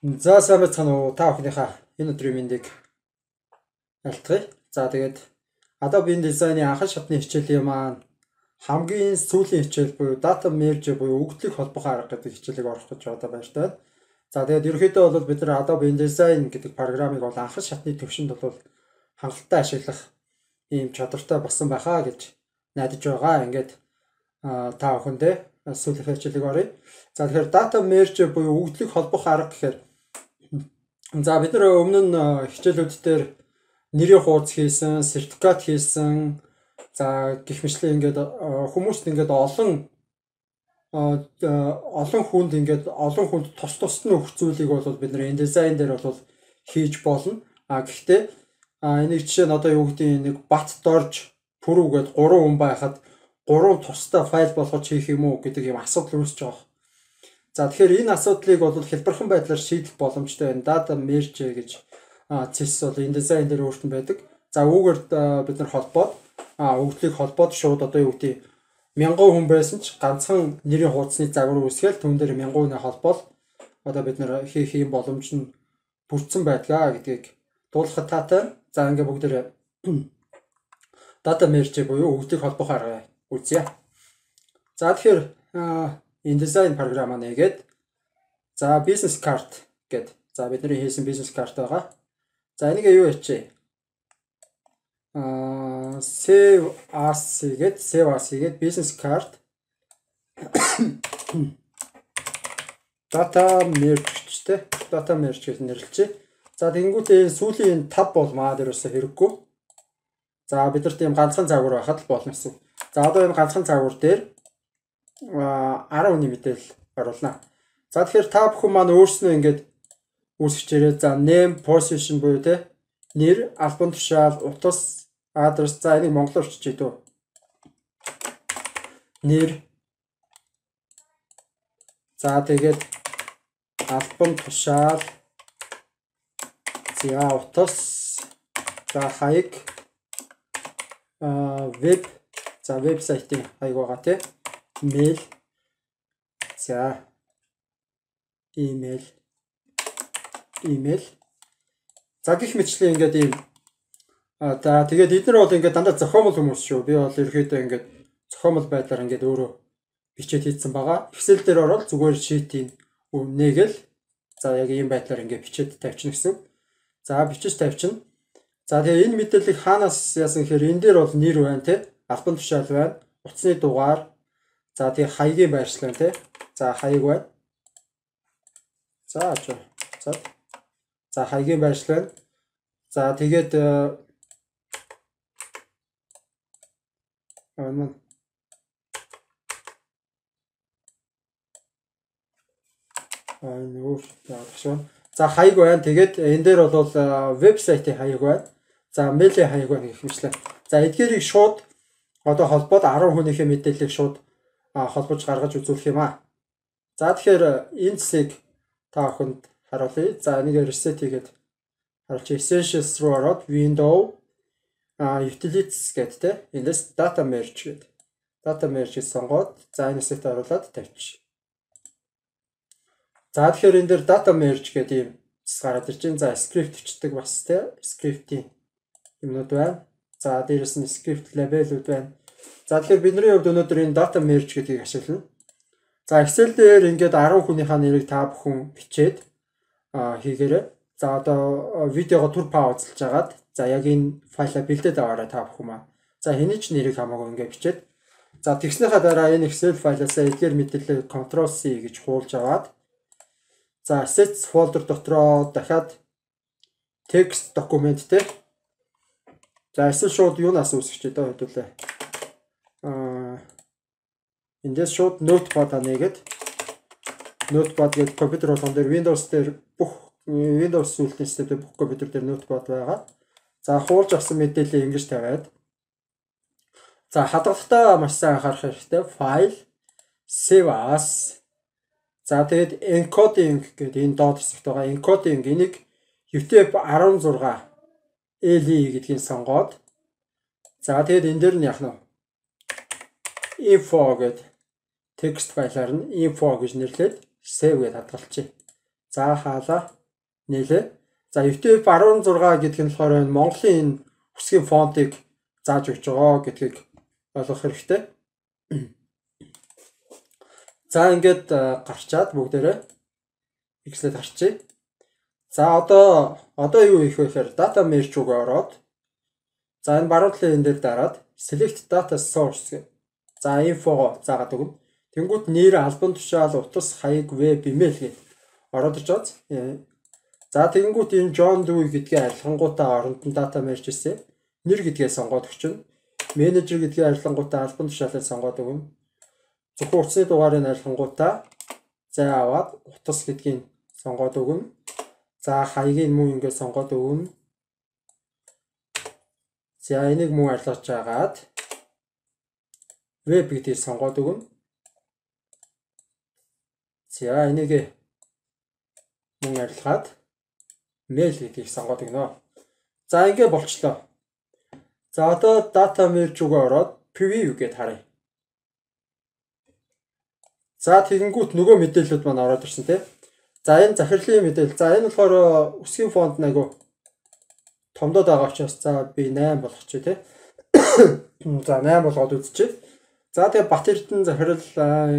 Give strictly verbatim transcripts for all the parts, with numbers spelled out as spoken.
За сайн байцгаана уу та бүхнийхээ энэ өдрийн мэндийг альтгая. За тэгээд Adobe InDesign-ы анхан шатны хичээлийн маань хамгийн сүүлийн хичээл буюу data merge буюу өгдлийг холбох арга гэдэг хичээлийг орох гэж одоо байна шүү дээ. За тэгээд ерөнхийдөө бол бид нар Adobe InDesign гэдэг програмыг бол анхан шатны төвшөнд бол хангалттай ашиглах ийм чадвартай болсон байхаа гэж найдаж байгаа. Ингээд та бүхэндээ сүүлийн хичээлийг оръё. За тэгэхээр data merge буюу өгдлийг холбох арга гэхээр за бид нар өмнө нь хичээлүүд дээр нэрийн хуудас хийсэн, сертификат хийсэн. За гэх мэтлээ ингээд хүмүүст ингээд олон олон хүнд ингээд олон хүнд тус тусд нь өгөх зүйлийг бол бид нар InDesign дээр бол хийж болно. А гэхдээ энийг жишээ нь одоо юу гэдэг нэг бат дорж пүрүү гээд гурван хүн байхад гурван тусдаа файл болгож хийх юм уу гэдэг юм асуудал үүсэж байгаа. За тэгэхээр энэ асуудлыг бол хэлбэрхэн байдлаар шийдэх боломжтой байна. Data merge гэж цэс бол InDesign дээр өөртөө байдаг. За үүгээр бид нар холбоод өгдлийг холбоод шууд одоо юу гэдэг мянган хүн байсан ч ганцхан нэрийн хуудасны загвар үүсгээл түүн дээр мянган хүнээ холбоод одоо бид нар хийх юм боломж нь бүрдсэн байдгаа гэдгийг дуулахад таатай. За ингээ бүгдээр data merge буюу өгдлийг холбох арга үзье. За тэгэхээр InDesign програм нэгээд за business card гэд за бидний хийсэн business card байгаа. За энийг юу ячээ? Аа save as гэд save as гэд business card data merge гэжтэй. Data merge гэж нэрлэлчээ. За тэгэнгүүтээ сүүлийн тав бол маа дээр өсө хэрэггүй. За бид нар тийм ганцхан загвар байхад л болно гэсэн. За одоо энэ ганцхан загвар дээр арав хүний мэдээлэл оруулна. За тэгэхээр та бүхэн маань өөрснөө ингээд үүсгчээрээ за name position буюу те нэр, албан тушаал, утас, адрес за энийг монголоор чичээ дөө. Нэр. За тэгээд албан тушаал. За утас. За хаяг. Аа веб. За вебсайтын хаяг байгаа те. Mail. За email. Email. За гих мэтлээ ингээд ийм а за тэгээд эдгээр бол ингээд дандаа зохиомол хүмүүс шүү. Би бол ерөөхдөө ингээд зохиомол байдлаар ингээд өөрөө бичээд хийсэн байгаа. Excel дээр ороод зүгээр sheet-ийн үнэгээл за яг ийм байдлаар ингээд бичээд тавьчихна гэсэн. За бичиж тавьчихна. За тэгээд энэ мэдээллийг хаанаас яасан гэхээр энэ дээр бол нэр байна те. Албан тушаал байна. Утасны дугаар. За тэгээд хаягийн байршлаа те. За хаяг байна. За ачаа. За За хаягийн байршлаа. За тэгээд аа аа нүүр яах. За хаяг байна. Тэгээд энэ дээр бол вебсайтын хаяг байна. За мэйлийн хаяг байна гэх мэтлээ. За эдгээрийг шууд одоо холбоод арав хүнийхээ мэдээллийг шууд холбож гаргаж үзүүлэх юм аа. За тэгэхээр энэ цэгийг та бүхэнд харуулъя. За энийг reset хийгээд харуулж essentials руу ороод window utilities гэдэг те. Эндээс data merge гэдэг. Data merge сонгоод за энэ set оруулаад тавьчих. За тэгэхээр энэ дээр data merge гэдэг юм гараад ирж байна. За script бичдэг бас те. Script-ийн юмнууд байна. За дээрэс нь script label-үүд байна. За тэгэхээр бидний хувьд өнөөдөр энэ data merge гэдгийг ашиглана. За Excel дээр ингээд арав хүнийхээ нэрийг та бүхэн бичээд хийгээрэй. За одоо видеого түр паузлж агаад за яг энэ файлаа бэлдээд аваарай та бүхэн маа. За хэний ч нэрийг хамаагүй ингээд бичээд за тэгснийхаа дараа энэ Excel файлаасаа эдгээр мэдээлэл control C гэж хуулж аваад за assets folder дотроо дахиад text document те. За эсвэл шууд юунаас үүсгэж дээ хэдүүлээ. Аа эндээс шууд notepad-а нээгээд notepad гэдэг компьютер болгон дээр Windows дээр бүх Windows сүлтийн системтэй бүх компьютер дээр notepad байгаа. За хуулж авсан мэдээлэл ингэж тавиад за хадгалагтаа маш сайн анхаарах хэрэгтэй. File save as за тэгээд encoding гэдэг энэ доод хэсэгт байгаа encoding энийг U T F арван зураг L E гэдгийг сонгоод за тэгээд энэ дээр нь яах нь info гэдэг текст файлаар нь info гэж нэрлээд save гэж хадгалчих. За хаалаа. нийлээ. За ю ти эф one six гэдэг нь болохоор Монголын энэ үсгийн фонтыг зааж өгч байгаа гэдгийг ойлгох хэрэгтэй. За ингээд гарчаад бүгдээрээ Excel-д харчээ. За одоо одоо юу хийх вэ гэхээр data merge рүүгээ ороод за энэ баруун талын энэ дээр дараад select data source гэх. За инфого заагаад өгнө. Тэнгүүт нэр, албан тушаал, утас, хаяг, веб, email гэж ороод ирж байгаа. За тэгэнгүүт энэ John Doe гэдгээ арилгангуудаа оронд нь data merge хийсэн. Нэр гэдгээ сонгоод өгчнө. Менежер гэдгээ арилгангуудаа албан тушаалыг сонгоод өгнө. Зөвхөн утасны дугаарыг арилгангуудаа зай аваад утас гэдгийг сонгоод өгнө. За хаягийг мөн ингээд сонгоод өгнө. За энийг мөн арилгаж агаад веб гэдгийг сонгоод өгнө. За энийг мөн арилгаад mail гэдгийг сонгоод өгнө. За ингээд болчлоо. За одоо data merge рүүгээ ороод preview гэдээ харъя. За тэгэнгүүт нөгөө мэдээлэлүүд маань ороод ирсэн тийм. За энэ захирлын мэдээлэл. За энэ болохоор үсгийн фонд айгу томдоод байгаа учраас за би eight болгочих тийм. За eight болгоод үзчихье. За тэгээ Бат Эрдэнэ захирал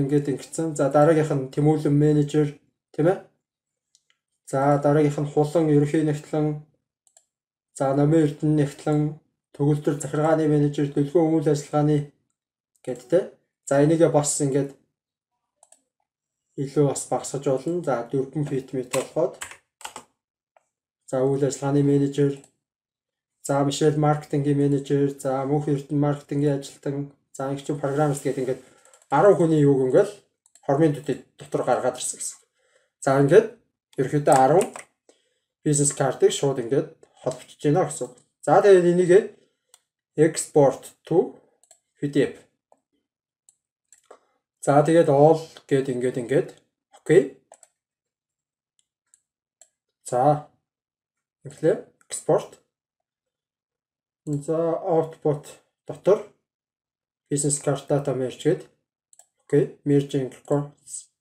ингээд ингэсэн. За дараагийнх нь Тэмүүлэн менежер тийм ээ. За дараагийнх нь Хулан ерөнхий нэгтлэн. За Номын Эрдэнэ нэгтлэн, төгөлдөр захиргааны менежер, төлөвлөгөө үйл ажиллагааны гэдтэй. За энийгээ бас ингээд илүү бас багасгаж болно. За four feet meter болоход. За үйл ажиллагааны менежер. За Мишель маркетингийн менежер. За Мөнх Эрдэнэ маркетингийн ажилтан. За ингэч программист гэдэг ингээд ten хүний юуг ингээл хормын дотор гаргаад ирсэн гэсэн. За ингээд ерөөхдөө ten бизнес картыг шууд ингээд холбогдож байна гэсэн. За тэгээд энийг export to пи ди эф. За тэгээд all гэд ингээд ингээд окей. За инглээ export. За output дотор business card data merge гээд окей, merging records.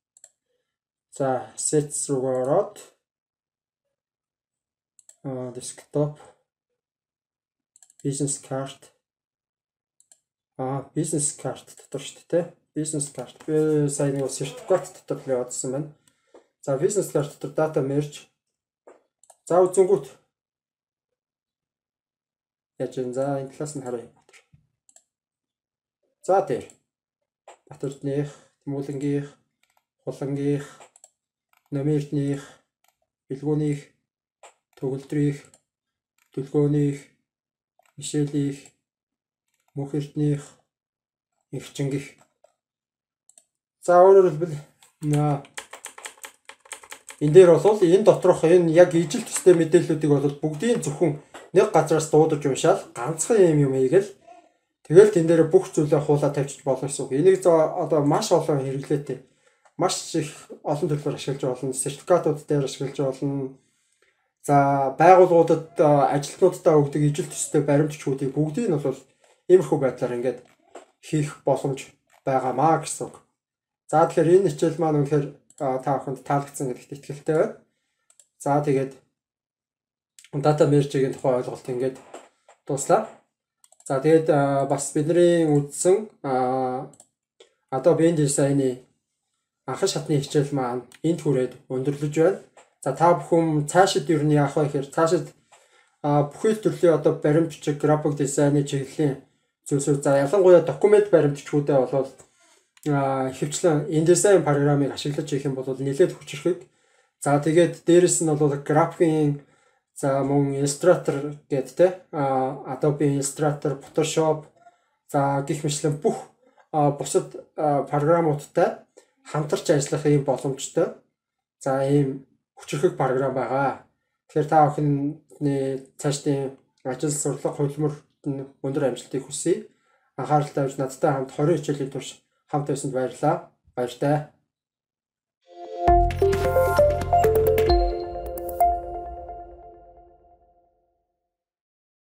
За assets руу ороод а desktop business card а business card дотор шүү дээ. Business card. Би сайн нэг сертификат дотор л явуулсан байна. За business card дотор data merge. За үзэнгүүт яаж юм. За энэ талаас нь харъя. За тэр Бат Эрдэнэх, Тэмүүлэнгийнх, Хулангийнх, Номын Эрдэнэх, Бэлгүүнийх, Төгөлдрийнх, Төлгөөнийх, Мишелийнх, Мөнх Эрдэнэх, Эрчингийнх. За өөрөөр хэлбэл энэ дээр бол энэ доторх энэ яг ижил төстэй мэдээллүүдийг бол бүгдийн зөвхөн нэг газараас дуудаж уншаал ганцхан юм юм хийгээл тэгэл тэн дээр бүх зүйлээ хуулаад тавьчих болно гэсэн үг. Энийг одоо маш олон хэрэглээтэй маш их олон төлөвлөөр ашиглаж болно. Сертификатууд дээр ашиглаж болно. За байгууллагуудад ажилтнуудаа өгдөг ижил төстэй баримтчгуудыг бүгдийг нь бол иймэрхүү байдлаар ингээд хийх боломж байгаамаа гэсэн үг. За тэгэхээр энэ хичээл маань үнэхээр та бүхэнд таалагдсан гэдэгт итгэлтэй байна. За тэгээд data merge-ийн тухай ойлголт ингээд дуслаа. За тэгээд бас бидний үзсэн Adobe InDesign-ы анхан шатны хичээл маань энд хүрээд өндөрлөж байна. За та бүхэн цаашид юу яах вэ гэхээр цаашид бүхэл төрлийн одоо баримт бичиг, график дизайны чиглэлийн зүйлсүүд за ялангуяа документ баримтчгуудаа болоод хөвчлэн InDesign программыг ашиглаж хийх юм бол нэлээд хүчрхэг. За тэгээд дээрэс нь бол графикийн за мөн Illustrator гэдэг те Adobe Illustrator, Photoshop за гэх мэтлэн бүх бусад програмуудтай хамтарч ажиллах юм боломжтой. За ийм хүчрхэг програм байгаа. Тэгэхээр та бүхний цаашдын ажил сурлага хөлмөрт нь өндөр амжилтыг хүсье. Анхаарал тавьж надтай хамт twenty хичээлийн турш хамт байсанд баярлалаа. Баяртай.